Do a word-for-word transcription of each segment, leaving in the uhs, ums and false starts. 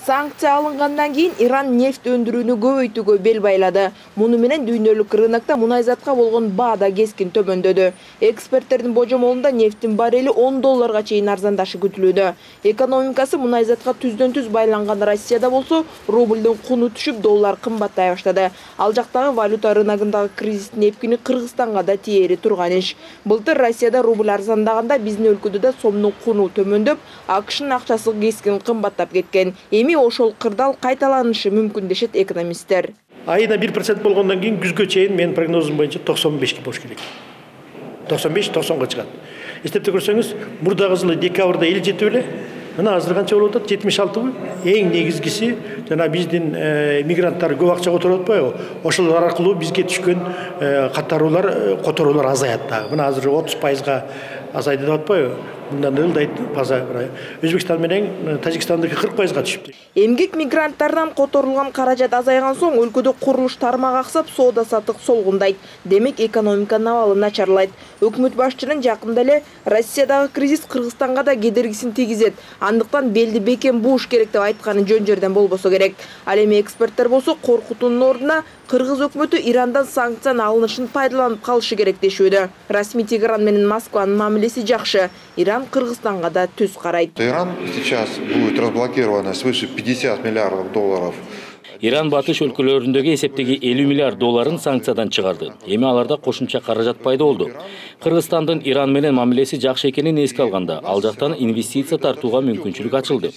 Санкция алынгандан кийин Иран нефть өндүрүүнү көбөйтүүгө бел байлады. Муну менен дүйнөлүк рынокто мунайзатка болгон баа да кескин төмөндөдү. Эксперттердин божомолунда нефтин баррели он долларга чейин арзандашы күтүлүүдө. Экономикасы мунайзатка түздөн түз байланган Россияда болсо, рублдун куну түшүп, доллар кымбаттай баштады. Ал жактагы валюта рыногундагы кризистин эпкини Кыргызстанга да тиери турган иш. Былтыр Россияда рубль арзандаганда биздин өлкөдө да сомдун куну төмөндөп, АКШнын акчасы кескин кымбаттап кеткен. Эми ошол кырдаал кайталанышы мүмкүн дешет экономисттер. Айына бир процент болгондон кийин күзгө чейин менин прогнозум боюнча токсон бешке болуш керек. токсон беш токсонго чыгат. Эстепте көрсөңүз, мурдагы жылы декабрда элүү жети эле, мына азыр канча болуп атат? жетимиш алтыбы? Эң негизгиси жана биздин мигранттар көп акча которуп атпайбы? Ошолор аркылуу бизге түшкөн катаруулар, которуулар азаят дагы. Мына азыр отуз пайызга азайды деп атпайбы? Мындан ылдайт база Өзбекстан менен Тажикстандыкы кырк пайызга түшүптү. Эмгек мигранттардан которулган каражат азайган соң өлкөдө курулуш тармагы аксап, соода саттык солгундайт. Демек экономиканын абалы начарлайт. Өкмөт башчынын жакында эле Россиядагы кризис Кыргызстанга да кедергисин тийгизет. Андыктан белди бекем бууш керек деп айтканы жөн жерден болбосо керек. Ал эми эксперттер болсо коркутуунун ордуна Кыргыз өкмөтү Ирандан санкциянын алынышын пайдаланып калышы керек дешүүдө. Расмий Тегеран менен Москванын мамилеси жакшы. Иран Кыргызстанга да түз карайт. Иран сейчас будет разблокировано свыше пятидесяти миллиардов долларов. Иран батыш өлкөлөрүндөгү эсептеги элүү миллиард долларын санкциядан чыгарды. Эми аларда кошумча каражат пайда болду. Кыргызстандын Иран менен мамилеси жакшы экенин эске алганда, ал жактан инвестиция тартууга мүмкүнчүлүк ачылды.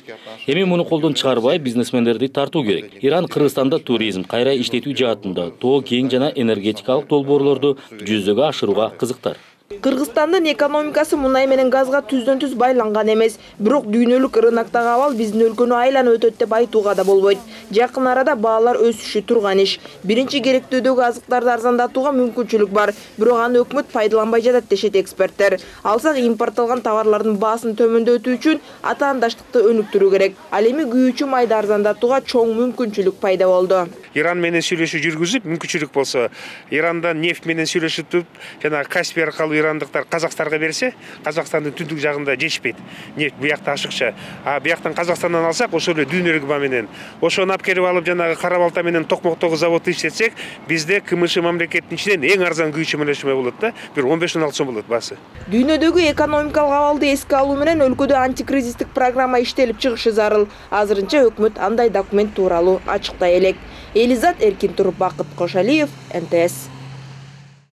Эми муну колдон чыгарбай, бизнесмендерди тартуу керек. Иран Кыргызстанда туризм, кайра иштетүү жаатында тоо кең жана энергетикалык долбоорлорду жүзөгө ашырууга кызыктар. Кыргызстандын экономикасы мунай менен газга түздөн түз байланган эмес, бирок дүйнөлүк рыноктогу абал биздин өлкөнү айланып өтөт деп айтууга да болбойт. Жакын арада баалар өсүшү турган иш. Биринчи керектөөдөгү азыктарды арзандатууга мүмкүнчүлүк бар, бирок аны өкмөт пайдаланбай жатат дешет эксперттер. Алсак импортталган товарлардын баасын төмөндөтүү үчүн атаандаштыкты өнүктүрүү керек. Ал эми күйүүчү майды арзандатууга чоң мүмкүнчүлүк пайда болду. Иран менен сүйлөшүү жүргүзүп, мүмкүнчүлүк болсо, Ирандан нефть менен сүйлөшүп, жана Каспий аркылуу ирандыктар Казакстанга берсе, Казакстандын түндүк жагында жетишпейт. Нефть буякта ашыкча. А буяктан Казакстандан алсак, ошол эле дүйнөлүк баа менен, ошону алып келип алып жанагы кара балта менен токмоктогу заводду иштетсек, бизде КМШ мамлекеттин ичинен эң арзан күйүүчү мөлөшмө болот да, бир он беш он алты сом болот баасы. Дүйнөдөгү экономикалык абалды эске алуу менен өлкөдө антикризистик программа иштелип чыгышы зарыл. Азырынча өкмөт андай документ тууралуу ачыктай элек. Элизат Эркин Туруп, Бакыт Кошалиев, эн тэ эс.